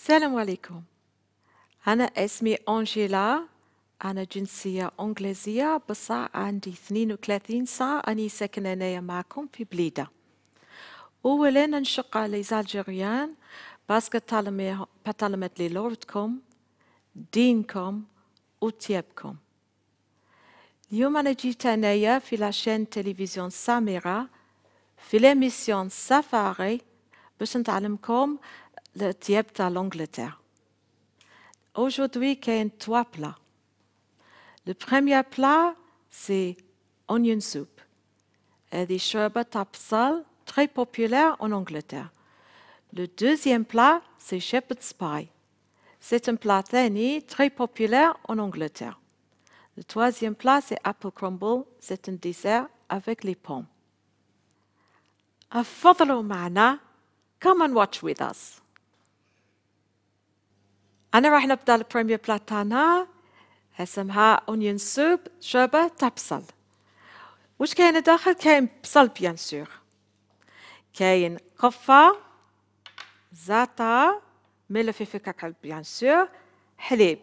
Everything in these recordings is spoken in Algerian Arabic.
السلام عليكم. أنا اسمي أنجيلا. أنا جنسية إنجليزية بصح عندي 32 سنة. أني ساكنة هنايا معكم في بليدة. أولا نشق على الجزائريين باسكو تعلمت لي لغتكم دينكم وطيبكم. اليوم أنا جيت هنايا في لاشين تلفزيون ساميرا في ليميسيون سافاري باش نتعلمكم الطياب تاع لانجلتير. Aujourd'hui, il y a 3 plats. Le premier plat, c'est onion soup. C'est شوربة تاع بصل très populaire en Angleterre. Le deuxième plat, c'est shepherd's pie. C'est un plat ثاني très populaire en Angleterre. Le troisième plat, c'est apple crumble. C'est un dessert avec les pommes. تفضلوا معنا. Come and watch with us. أنا راح نبدأ البريمير بلا تاعنا اسمها أونيون سوب شوربة تاع بصل. واش كاين داخل؟ كاين بصل بيان سور، كاين قفة، زعتر، ملح فلفل كحل بيان سور، حليب.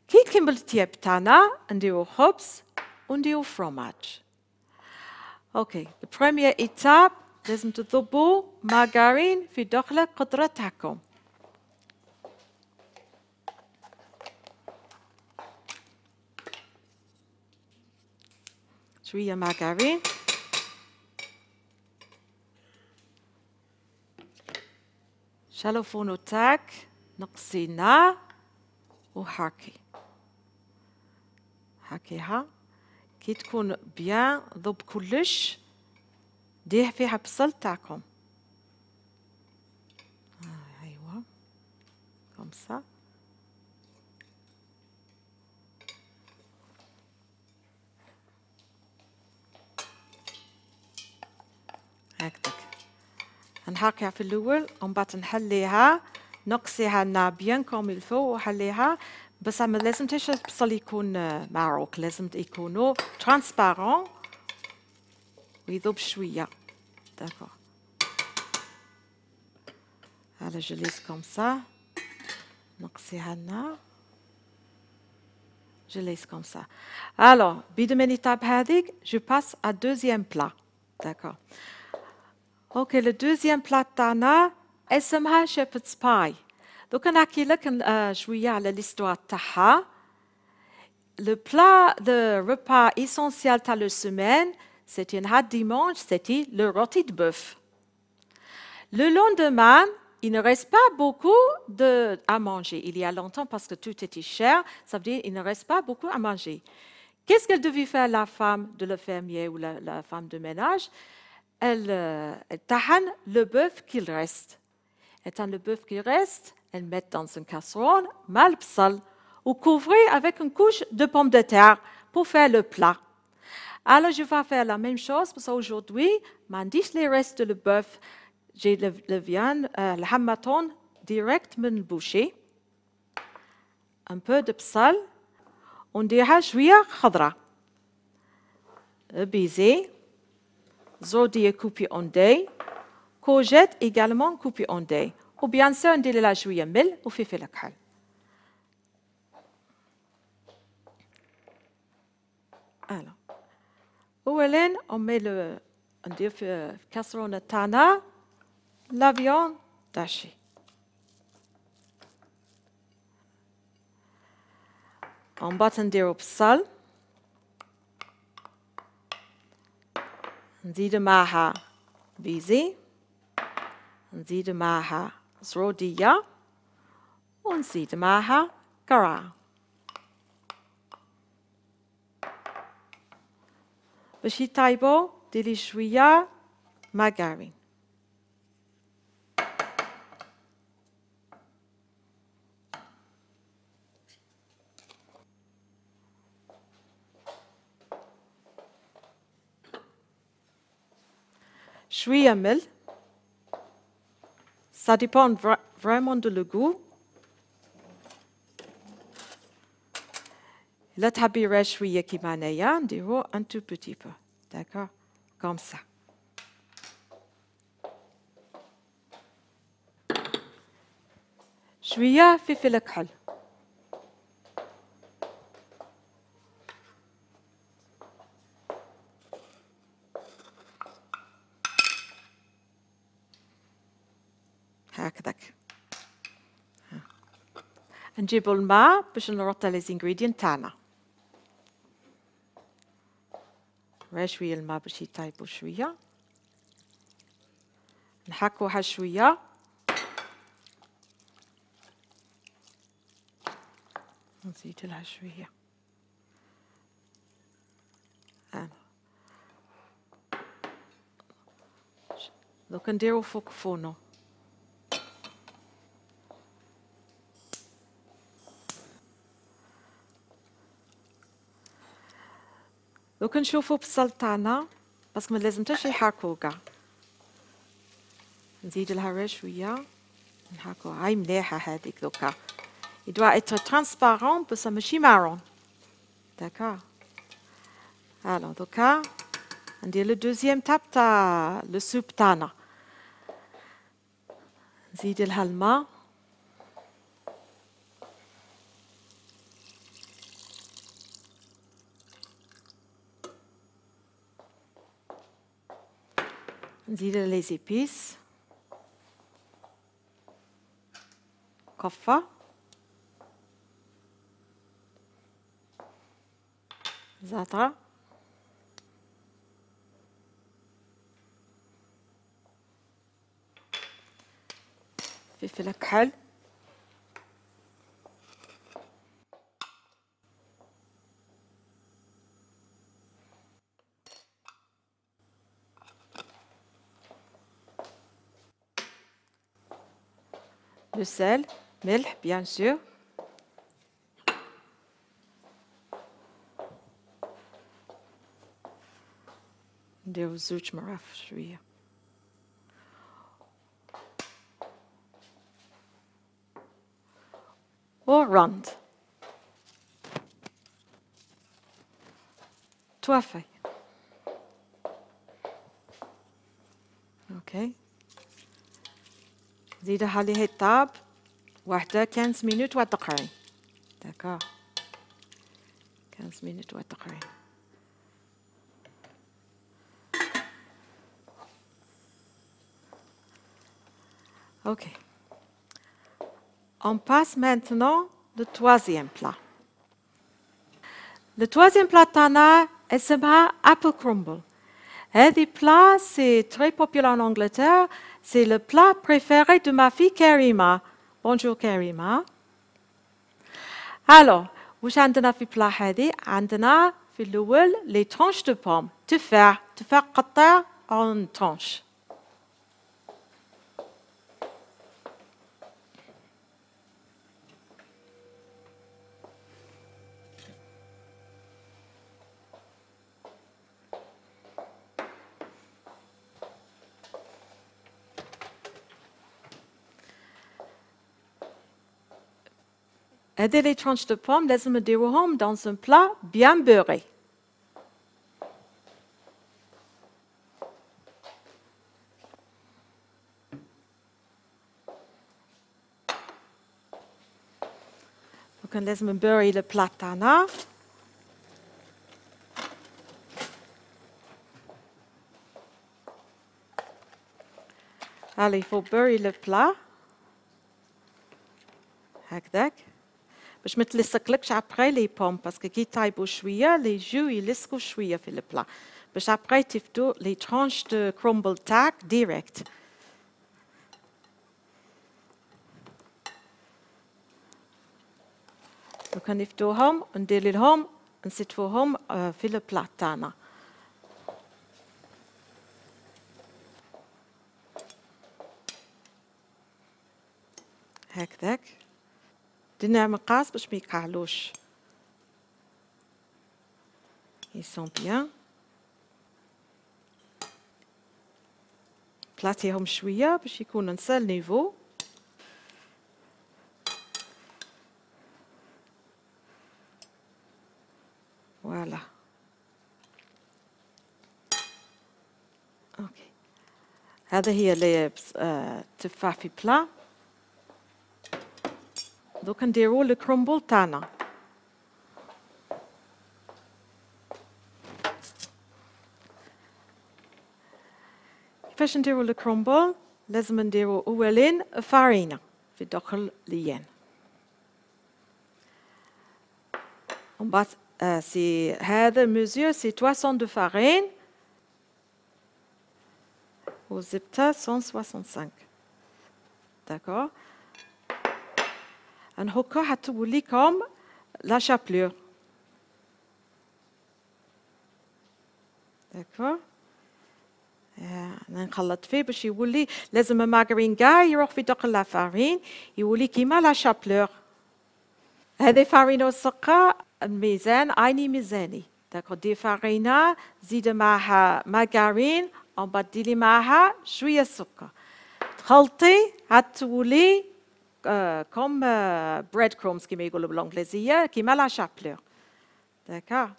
كي نكمل الطياب تاعنا نديرو خبز ونديرو فروماج. اوكي، البريمير ايتاب لازم تضربوا مارغرين في داخل القدرة تاعكم. شوية مارغرين، شالو فونو تاعك، نقصي النار وحركي حركيها. كي تكون بيان ضب كلش ديه فيها بصل تاعكم. ايوا كوم سا. هكذاك نحركيها في الاول ومن بعد نحليها، نقصيها النار بيان كوم الفو وحليها. بس ما لازم تاش البصل يكون معروك، لازم يكونوا ترانسبارون ويذوب شويه. داكور. على جليس كوم سا، نقصيها النار، جليس كوم سا. الو بيد من ايتاب هذيك جو باس ا دوزيام بلا. داكور. اوكي، لو دوزيام بلا تاعنا اسمها شيبردز باي. دوكا نحكي لك شويه على ليستوار تاعها. لو بلا دو ريبا اسونسيال تاع لو سيمين سيتي نهار ديمانش، سيتي لو روتي دو بوف. Le lendemain, il ne reste pas beaucoup à manger. Il y a longtemps, parce que tout était cher, ça veut dire qu'il ne reste pas beaucoup à manger. Qu'est-ce qu'elle devait faire, la femme de le fermier ou la femme de ménage? Elle tahane le bœuf qu'il reste. Et dans le bœuf qui reste, elle met dans une casserole mal psal ou couvrir avec une couche de pommes de terre pour faire le plat. Alors, je vais faire la même chose parce qu'aujourd'hui, m'en dis les restes de le bœuf. J'ai le viande, le hamaton direct من البوشي. Un peu de psal. ونديرها شوية خضرة. بيزي. زودية coupé en dés. Courgette également coupé en dés. Ou bien sûr ندير لها شوية ملح وفلفل كحل. Alors. أولاً on met le ندير في الكاسرونة تاعنا la viande hachée. ومن بعد نديرو بصل، نزيد معها بيزي، نزيد معها زرودية، ونزيد معها كرع. باش يطيبو ديري شوية مارغرين. شوية ملح. Ça dépend vraiment de le goût. لا تحبي راه شوية كيما هنايا نديرو un tout petit peu. D'accord? Comme ça. شوية فلفل كحل، هكذاك. نجيبوا الماء باش نرطوا لي زينغريدينت تاعنا. شوية الماء باش يطيبوا شوية، نحكوها شوية، نزيد لها شوية. دوك نديرو فوق فونو. دوك نشوفو بصل تاعنا باسكو ما لازمتش يحركو كاع. نزيد لها غير شويه، نحركو. هاي مليحه هذيك دوكا. il doit être transparent بصح ماشي مارون. داكور. الو دوكا ندير لو دوزيام تاب تاع لو سوب تاعنا. نزيد لها الماء، نزيد لي زيبيس، قفة، زعتر، فلفل كحل، le sel، ملح bien sûr، نديرو زوج مراف شوية، وراند توافي. اوكي زيدها عليه الطاب واحدة 15 مينوت وتقرين. داكور 15 مينوت وتقرين. Ok. On passe maintenant le troisième plat. Le troisième plat تاعنا اسمها apple crumble. هذه plat c'est très populaire en Angleterre. C'est le plat préféré de ma fille Karima. Bonjour Karima. Alors, واش عندنا في بلا هذه؟ عندنا في الأول les tranches de pomme. تفاح قطع en tranches. هذه les tranches de pomme لازم نديروهم dans un plat bien beurré. وكان لازم نبوري البلا تاعنا. Allez, il faut beurrer le plat هكذاك باش ما تلصقلكش ابري لي بوم باسكو كي يطيبوا شويه لي جو يلصقوا شويه في البلا باش ابري تفدو لي ترانش دو كرومبل تاعك ديريكت. دوكا نفدوهم وندير لهم نستفوهم في البلا تاعنا. هكذاك درنا مقاس باش ما يقعلوش. ils sont bien. بلاتيهم شويه باش يكونوا نسال نيفو. فوالا اوكي. هذا هي اللي تفاح في بلا. دوك نديرو الكرومبل تاعنا. كيفاش نديرو الكرومبل؟ لازم نديرو أولين فارينة في داخل ليان. ومن بعد سي هذا ميزور سي 300 دو فارين والزبدة 165. داكور. هكا حتولي كوم لا شابلور. داكور. نخلط فيه باش يولي، لازم المارغرين كاع يروح في داخل لا فارين يولي كيما لا شابلور. هذه فارينة والسكر الميزان عيني ميزاني. داكور. دي فارينة زيد معها مارغرين ومن بعد ديري معها شوية سكر، تخلطي حتولي كوم بريد كرومز كيما يقولوا بالانجليزية، كيما لا شابلور. داكور.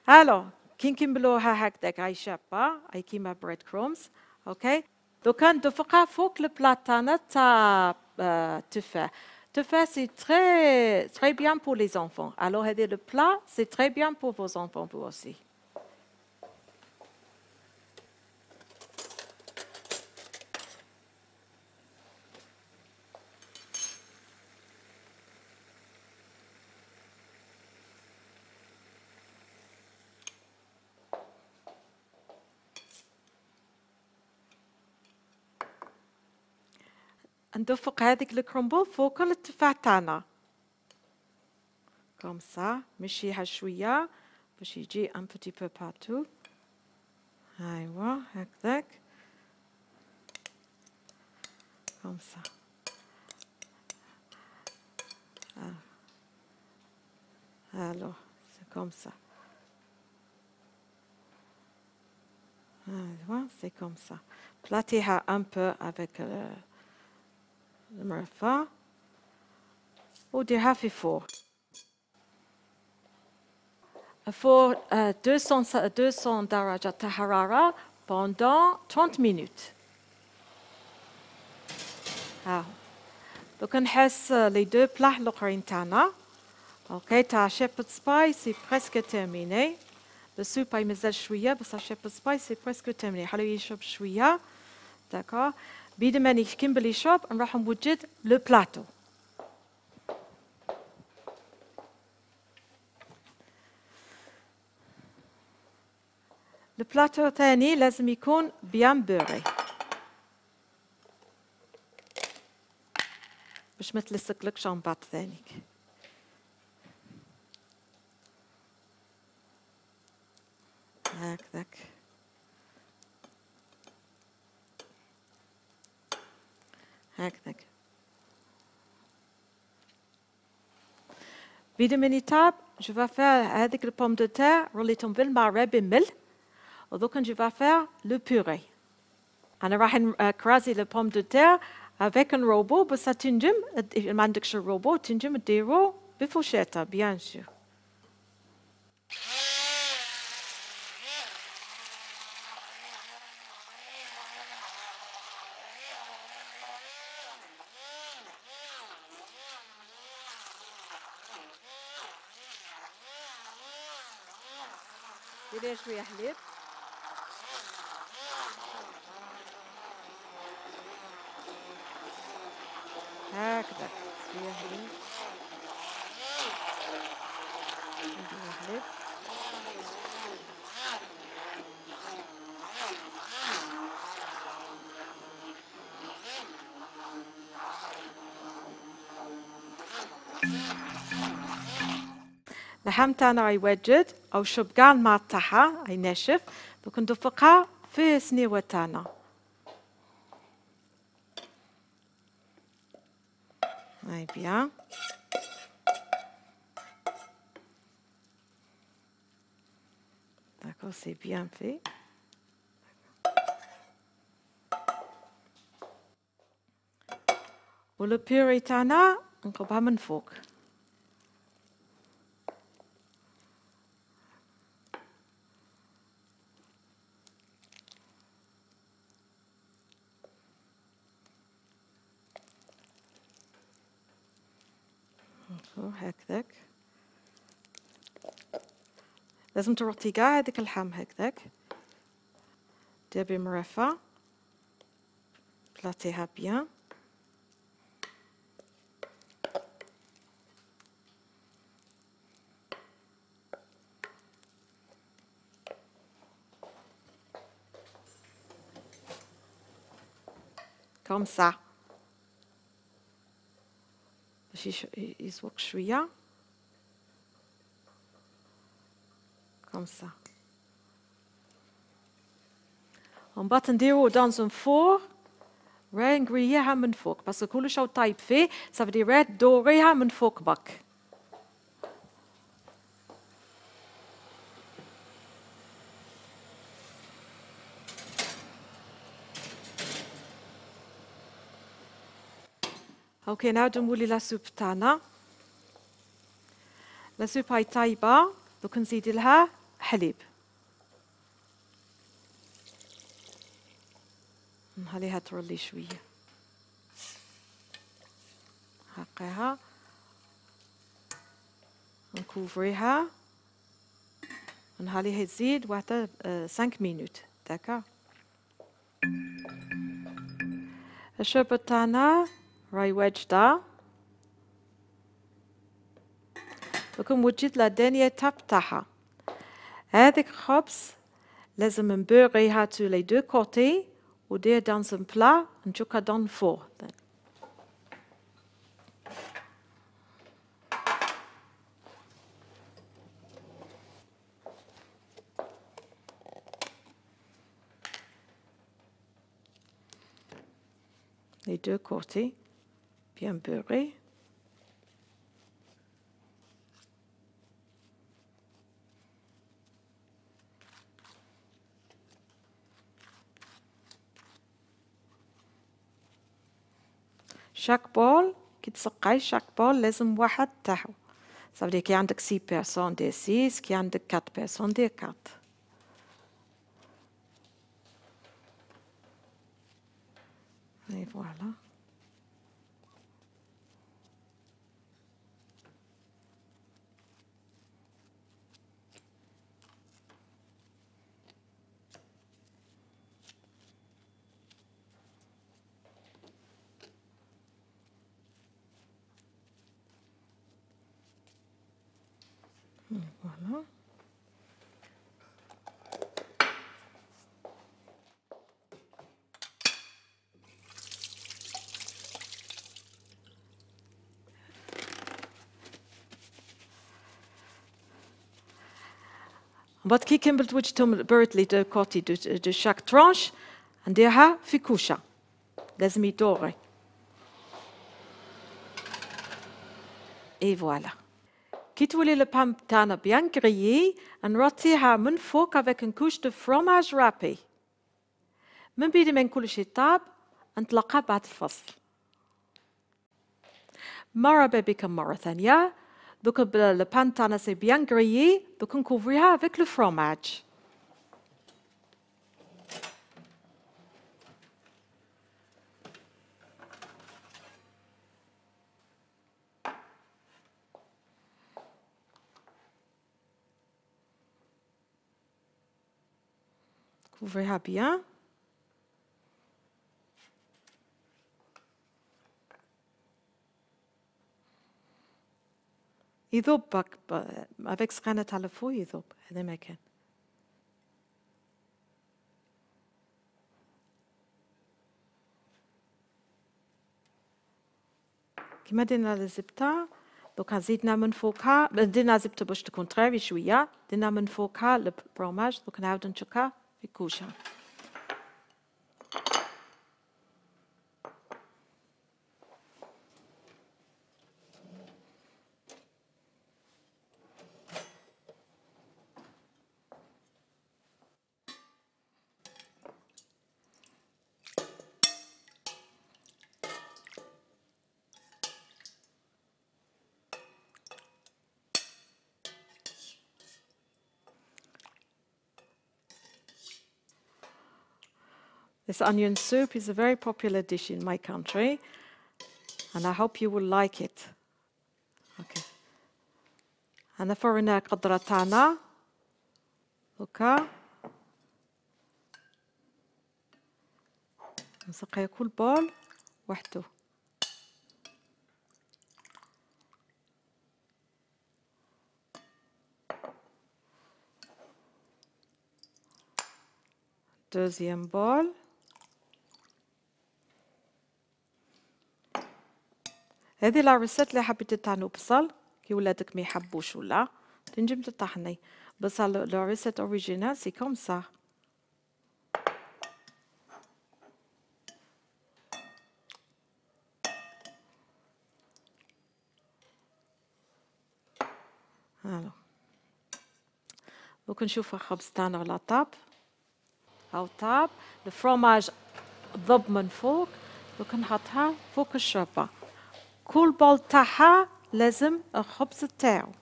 الو كي نكملوها هكذاك هاي شابة هاي كيما بريد كرومز. اوكي. دوكا ندفقها فوق البلاط تاعنا تاع التفاح. التفاح سي تري بيان بور لي زونفون. الو هذا لو بلا سي تري بيان بور فو زونفون بو اوسي. ندفق هذيك الكرومبل فوق التفاح تاعنا كوم سا، مشيها شويه باش يجي ان بوتي بو بارتو. ايوا هكذاك كوم سا. الو سي كوم سا. ايوا سي كوم سا. بلاتيها ان بو افيك المرفأ وديرها في فور. فور 200 درجة حرارة pendant 30 minutes. ها دوك نحس لي دو بلاح الاخرين تاعنا. اوكي تاع شيبرد سباي سي بريسك تيرميني. السوب مازال شويه بصح شيبرد سباي سي بريسك تيرميني. خليه يشرب شويه. داكور. بيد ما نكمل يشرب نروح نوجد لو بلاطو. البلاطو ثاني لازم يكون بيان بوري باش ما تلصقلكش من بعد ثانيك. هكذاك. هكذاك. في دو مينيتاب جو فا فير هذيك البوم دو تير روليتهم بالماء بالملح ودوك جو فا فير لو بوري. انا راح نكرازي البوم دو تير افيك ان روبو بس تنجم ما عندكش الروبو تنجم ديرو بفوشيطه بيان سور. ديري شويه حليب. هكذا شويه حليب. شويه حليب. اللحم تاعنا يوجد او شرب كاع الماء تاعها ينشف. دوك ندفقها في السنيوه تاعنا. هاي بيان. داكور سي بيان في. ولو بيوري تاعنا نقبها من فوق. هكذاك. لازم ترطي كاع هذيك اللحم هكذاك، دير بمرفة، بلاطيها بيان. كوم سا باش يزوق شوية كوم سا. ومن بعد نديرو دون فور راهي نقريها من فوق باسكو كلش راهو طايب فيه، صافي راهي تدوريها من فوق برك. اوكي نعاودو نولي لا سوب تاعنا. لا سوب هاي طايبة، دوك نزيد لها حليب، نخليها ترلي شوية، نحقيها نكوفريها ونخليها تزيد واحدة 5 مينوت. داكا الشوربة تاعنا راهي واجدة. دوكا وجدت لا دانية تاب تاعها. هذيك خبز لازم نبوريها تو لي دو كوتي ودير دون ان بلا نشوكها دون فور. Les deux côtés bien beurrés. chaque بول كي تسقاي chaque بول لازم واحد تاعو. صافي كي عندك 6 بيرسون دير 6، كي عندك 4 بيرسون دير 4. Et voilà. Voilà. بعد كي كملت وجدتهم برت لي دو كوتي دو شاك ترانش نديرها في كوشة، لازم يدوري. اي فوالا. كي تولي لو بام تاعنا بيان كريي نرطيها من فوق افيك ان كوش دو فروماج رابي. من بيد ما كلشي طاب نطلقها بعد الفصل. مرحبا بكم مرة ثانية. دوك لو بان تاعنا سي بيان كريي، دوك نكوفريها افيك لو فروماج. Couvrez-la bien. يذوب avec سخانة على فوق يذوب، هذا ما كان. كيما درنا الزبدة دوكا زيدنا من فوقها، درنا زبدة باش تكون طرية شوية، درنا من فوقها الفرماج، دوكا نعاودو نشكها في كوشة. This onion soup is a very popular dish in my country, and I hope you will like it. Okay. أنا فرنا القدرة تاعنا هكا نسقي كل بول وحده. دوزيام بول. هذه لا ريسيت اللي حبيت تطحنوا بصل كي ولادك ما يحبوش ولا تنجم تطحني بصل. لا ريسيت اوريجينال سي كوم سا. هلا دوك نشوف الخبز تاعنا على طاب. هاو طاب الفرomage ضب من فوق. دوك نحطها فوق الشوربة. كل بول تاعها لازم الخبز تاعو.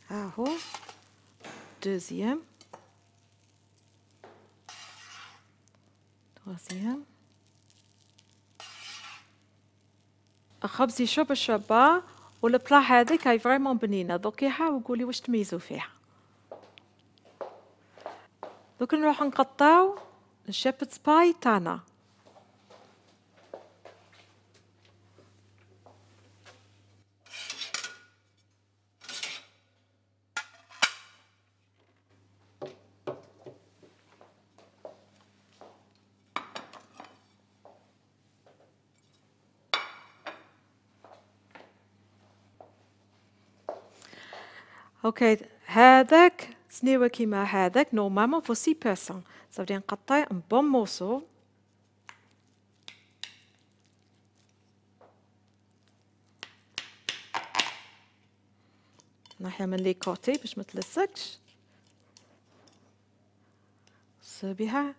ها هو دوزيام troisième. الخبز يشرب الشوربة والبلا هذيك هاي فريمون بنينة. ذوقيها وقولي واش تميزوا فيها. دوك نروح نقطعو الشيبرز باي تاعنا. اوكي هذاك سنيوة كيما هذاك نورمالمون فو 6 بيرسون. صافي نقطع ان بون موسو. ناحية من لي كوتي باش ما تلصقش. صبيها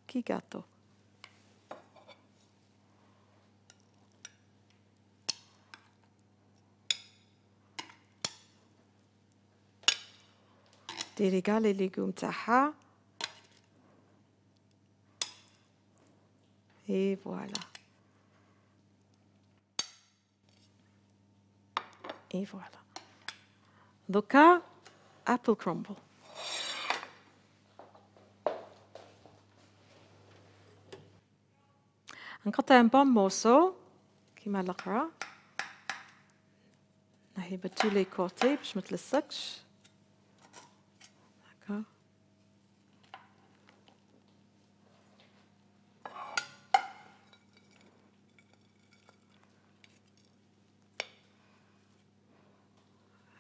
كي غاتو. ديري كاع لي ليغوم تاعها. اي فوالا. اي فوالا. دوكا ابل كرومبل. نقطع ان بون موسو كيما الاخرى. نحي بتو لي كوتي باش ما تلصقش. هكا.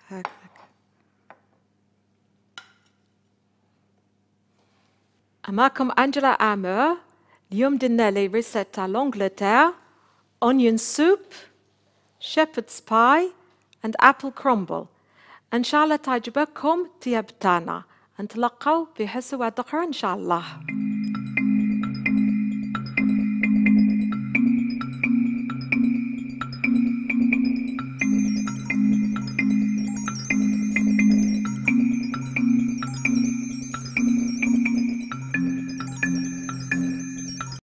هكذاك. معكم أنجلا آمر. اليوم درنا لي ريسيت تاع لونجلتير. onion soup, shepherd's pie and apple crumble. إن شاء الله تعجبكم طياب تاعنا. نتلقاو في حصة أخرى إن شاء الله.